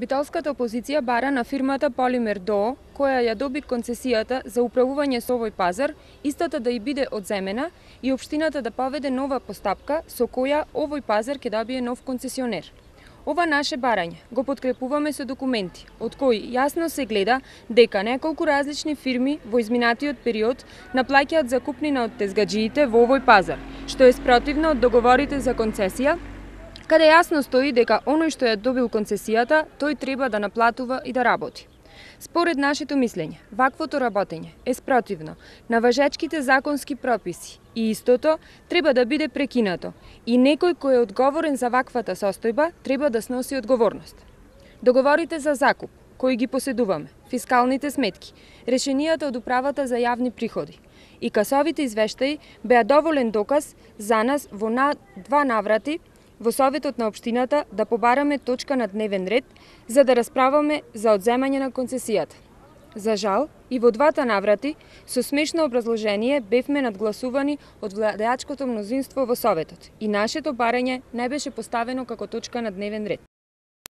Битолската опозиција бара на фирмата Полимер ДОО, која ја доби концесијата за управување со овој пазар, истата да и биде одземена и општината да поведе нова постапка со која овој пазар ќе добие нов концесионер. Ова наше барање го подкрепуваме со документи, од кои јасно се гледа дека неколку различни фирми во изминатиот период наплаќаат закупнина од тезгаџиите во овој пазар, што е спротивно од договорите за концесија, каде јасно стои дека оној што ја добил концесијата, тој треба да наплатува и да работи. Според нашето мислење, ваквото работење е спротивно на важечките законски прописи и истото треба да биде прекинато и некој кој е одговорен за ваквата состојба треба да сноси одговорност. Договорите за закуп, кои ги поседуваме, фискалните сметки, решенијата од управата за јавни приходи и касовите извештаи беа доволен доказ за нас во два наврати во Советот на општината да побараме точка на дневен ред за да расправаме за одземање на концесијата. За жал, и во двата наврати, со смешно образложение бевме надгласувани од владеачкото мнозинство во Советот и нашето барање не беше поставено како точка на дневен ред.